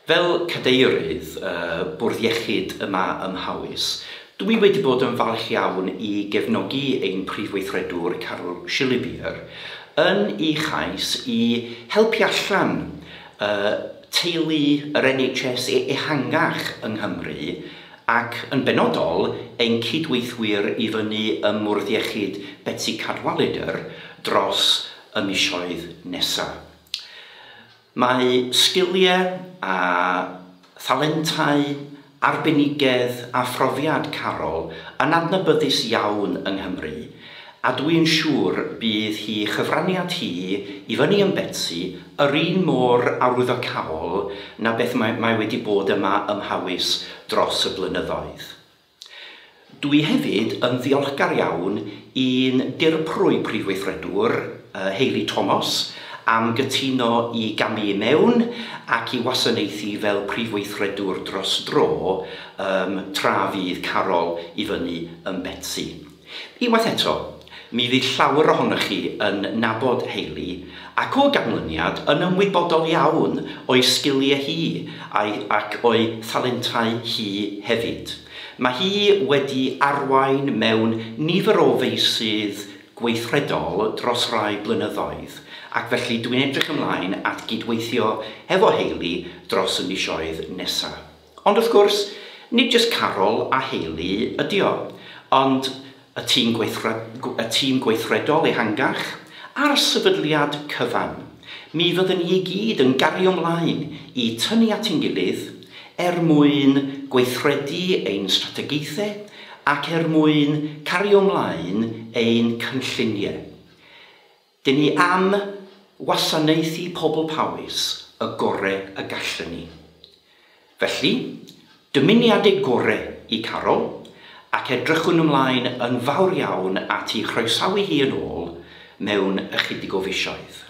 Fel cadeirydd Bwrdd Iechyd yma ym Mhowys, dw i wedi bod yn falch iawn i gefnogi ein Prif Weithredwr Carol Shillabeer yn ei chais i helpu allan teulu yr NHS ehangach yng Nghymru ac yn benodol ein cydweithwyr i fyny ym Mwrdd Iechyd Betsi Cadwaladr dros y misoedd nesaf. Mae sgiliau a thalentau, arbenigedd a phrofiad Carol yn adnabyddus iawn yng Nghymru, a dw i'n siŵr bydd hi chyfraniad hi i fyny yn Betsi yr un mor arwyddocaol na beth mae mae wedi bod yma ym Mhowys dros y blynyddoedd. Dw i hefyd yn ddiolchgar iawn i'n dirprwy Prif Weithredwr, Hayley Thomas, am gytuno i gamu i mewn ac i wasanaethu fel Prif Weithredwr dros dro tra fydd Carol i fyny ym Betsi. Unwaith eto, mi fydd llawer ohonoch chi yn nabod Hayley ac o ganlyniad yn ymwybodol iawn o'i sgiliau hi a'i ac o'i thalentau hi hefyd. Mae hi wedi arwain mewn nifer o feysydd gweithredol dros rai blynyddoedd, ac felly dwi'n edrych ymlaen at gydweithio hefo Hayley dros y misoedd nesa. Ond wrth gwrs, nid jyst Carol a Hayley ydi o, ond y tîm y tîm gweithredol ehangach, a'r sefydliad cyfan. Mi fyddwn ni i gyd yn gario mlaen i tynnu at ein gilydd er mwyn gweithredu ein strategaethau ac er mwyn cario mlaen ein cynlluniau. Dyn ni am wasanaethu pobl Powys y gore y gallwn ni. Felly, dymuniadau gore i Carol, ac edrychwn ymlaen yn fawr iawn at ei chroesawu hi yn ôl mewn ychydig o fisoedd.